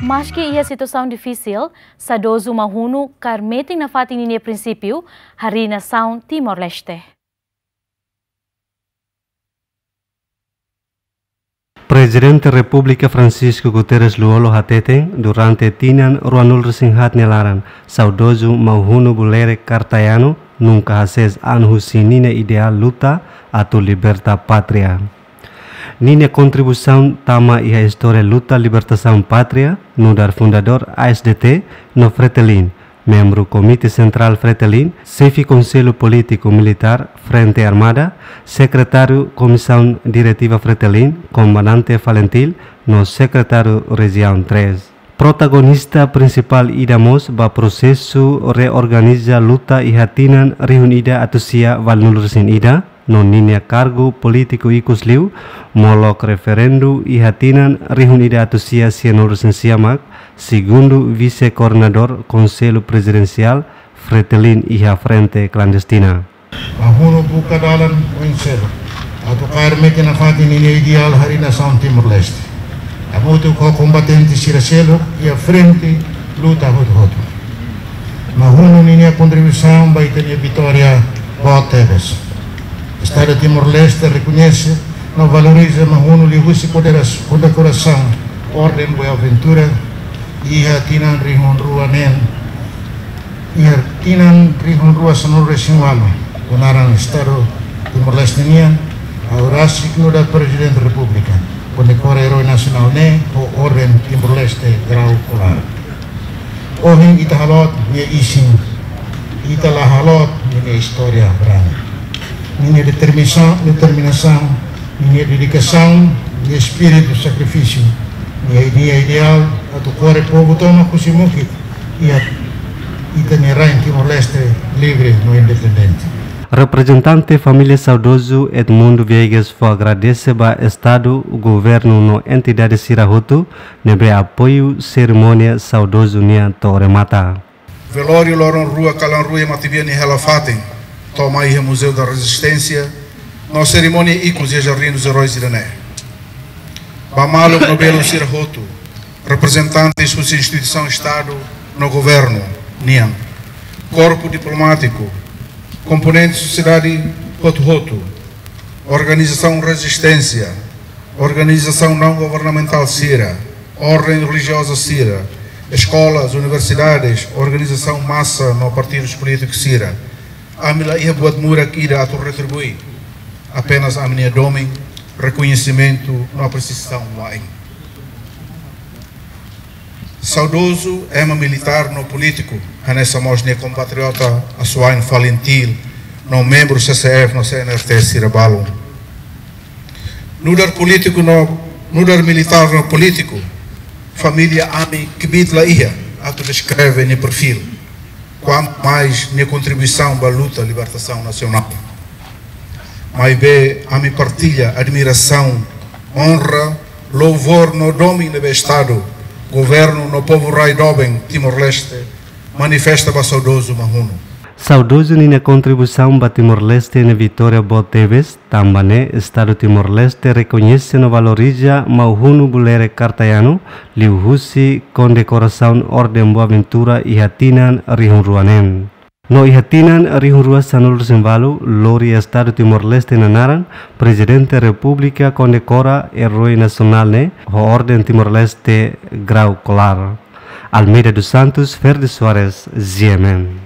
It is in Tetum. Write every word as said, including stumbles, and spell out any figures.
Maski iha situasaun difisil, saudozu Maun Hunu kaer metin nafatin ninia prinsípiu harii nasaun Timor-Leste. Prezidente Repúblika Francisco Guterres Lú-Olo hateten, durante tinan ruanulu-resin-haat nia laran, saudozu Maun Hunu Bulerek Kartayanu nunka hasees an husi ninia ideál luta atu liberta pátria. Ninia kontribuisaun tama iha istória luta libertasaun pátria, nu'udar fundadór A S D T no Fretilin, membru Komité Sentrál Fretilin, xefe Konsellu Polítiku Militár Frente Armada, sekretáriu Komisaun Diretiva Fretilin, Komandante Falintil, no sekretáriu Rejiaun três. Protagonista prinsipál ida mós ba prosesu reorganiza luta iha tinan rihun ida atus sia valunulu-resin-ida, no ninia kargu polítiku ikus liu, molok referendu iha tinan rihun ida atus sia sianulu-resin-sia mak segundu vise-koordenadór Konsellu Prezidensiál Fretilin iha Frente Klandestina. Maun Hunu buka dalan oin seluk atu kaer metin nafatin ninia ideál harii nasaun Timor-Leste, hamutuk ho kombatente sira seluk iha frente luta hotu-hotu. Maun Hunu ninia kontribuisaun ba ita-nia vitória boot tebes. Estadu Timor-Leste rekoñese no valoriza Maun Hunu liuhusi kondekorasaun Orden Buenaventura iha tinan rihun rua neen, iha tinan rihun rua sanulu-resin-ualu, ho naran Estadu Timor-Leste nian, ha'u rasik nu'udar Prezidente Repúblika kondekora eroi nasionál ne'e ho Orden Timor-Leste Grau Kolar. Ohin ita haloot nia isin, ita la haloot ninia istória brani. Ninia determinasaun, determinasaun, ninia dedikasaun, ninia espíritu sakrifísiu, ninia ideál atu kore povu tomak husi mukit iha ita-nia rain Timor-Leste livre no independente. Reprezentante família saudozu Edmundo Viegas fó agradese ba Estadu, governu no entidade sira hotu ne'ebé apoiu serimónia saudozu nian to'o remata. Velóriu loron rua kalan rua iha matebian nia hela-fatin, to'o mai iha Museu da Resistência, no serimónia ikus iha Jardín dos Heróis ida-ne'e. Ba maluk no belun sira hotu, reprezentantes husi instituisaun Estadu no governu nian, korpu diplomátiku, komponente sosiedade hotu-hotu, organizasaun rezisténsia, organizasaun naun governamentál sira, orden relijioza sira, eskolas, universidades, organizasaun masa no partidus polítikus sira. Ami la iha buat murak ida atu retribui, apenas ami-nia domin, rekoñesimentu no apresiasaun wa'in. Saudozu ema militár no polítiku, hanesan mós nia kompatriota asuwa'in Falintil, no membru C C F no C N R T sira balun. Nu'udar polítiku no, nu'udar militár no polítiku, família ami kbiit la iha atu deskreve nia perfíl, kuantu mais nia kontribuisaun ba luta libertasaun nasionál. Maibé ami partilla admirasaun, onra, louvór no domin ne'ebé Estadu, governu no povu rai doben Timor-Leste manifesta ba saudozu Maun Hunu. Saudozu ninia kontribuisaun ba Timor-Leste ne'e vitória boot tebes, tanba ne'e Estadu Timor-Leste rekoñese no valoriza Maun Hunu Bulerek Kartayanu liuhusi kondekorasaun Orden Buenaventura iha tinan rihun rua neen. No iha tinan rihun rua sanulu-resin-ualu, lori Estadu Timor-Leste nia naran, Prezidente Repúblika kondekora eroi nasionál ne'e ho Orden Timor-Leste Grau Kolar. Almeida dos Santos, Ferdi Soares, G M N.